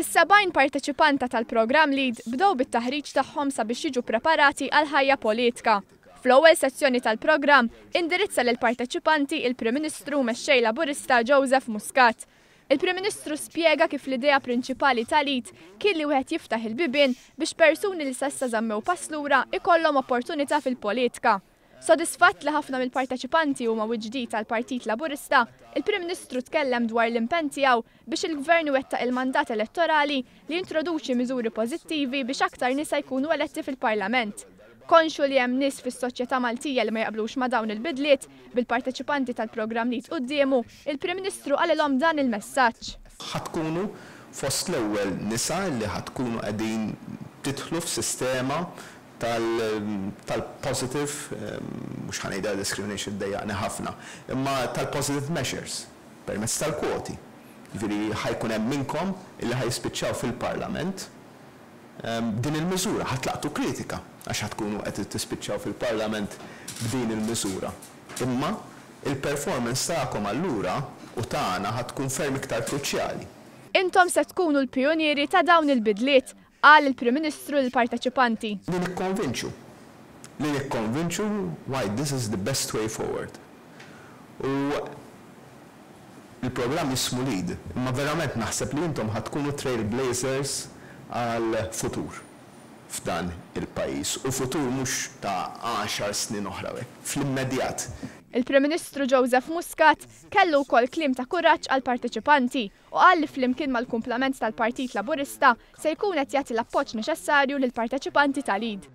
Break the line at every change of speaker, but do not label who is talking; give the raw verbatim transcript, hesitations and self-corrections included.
Is-sebgħin parteċipanta tal-programm LEAD bdew bit-taħriġ tagħhom sabiex jiġu preparati għal ħajja politika. Fl-ewwel sezzjoni tal-programm indirizza lil parteċipanti il-Prim Ministru Mexxej Laburista Joseph Muscat. Il-Prim Ministru spjega kif l-idea prinċipali tal-LEAD kien li wieħed jiftaħ il-bibien biex persuni li s'issa żammew pass lura ikollhom opportunità fil-politika. Sodisfatt li ħafna mill-parteċipanti huma ġdid tal-Partit Laburista, il-Prim Ministru tkellem dwar l-impenn tiegħu biex il-Gvern iwettaq il-mandat elettorali li jintroduċi miżuri pożittivi biex aktar nisa jkunu eletti fil-Parlament. Konxu li hemm nies fis-soċjetà Maltija li ma jaqblux ma' dawn il-bidliet, bil-parteċipanti tal-programm li quddiemu, il-Prim Ministru qalilhom dan il-messaġġ.
Ħa tkunu fost l-ewwel nisa li ħa tkunu qegħdin tidħlu f'sistema tal-positive, mhux ħa ngħidha discrimination, dejjaqni ħafna, imma tal-positive measures, permezz tal-kwoti. Ġifieri ħa jkun hemm minnkom illi ħa jispiċċaw fil-Parlament din il-miżura, ħa tlaqtu kritika għax ħa tkunu qed tispiċċaw fil-Parlament b'din il-miżura. Imma il-performance tagħkom allura u tagħna ħa tkun ferm iktar kruċjali.
Intom se tkunu l-pionieri ta' dawn il-bidliet, qal il-Prim Ministru lill-parteċipanti.
Li nikkonvinċu. Li nikkonvinċu why this is the best way forward. U il-programm jismu LEAD, imma verament naħseb li intom ħa tkunu trailblazers għal futur f'dan il-pajjiż. U futur mhux ta' għaxar snin oħra, fl-immedjat.
Il-Prim Ministru Joseph Muscat kellu wkoll kliem ta' kuraġġ għal parteċipanti u qal li flimkien mal-kumplament tal-Partit Laburista se jkun qed jagħti l-appoġġ neċessarju lill-parteċipanti tal-LEAD.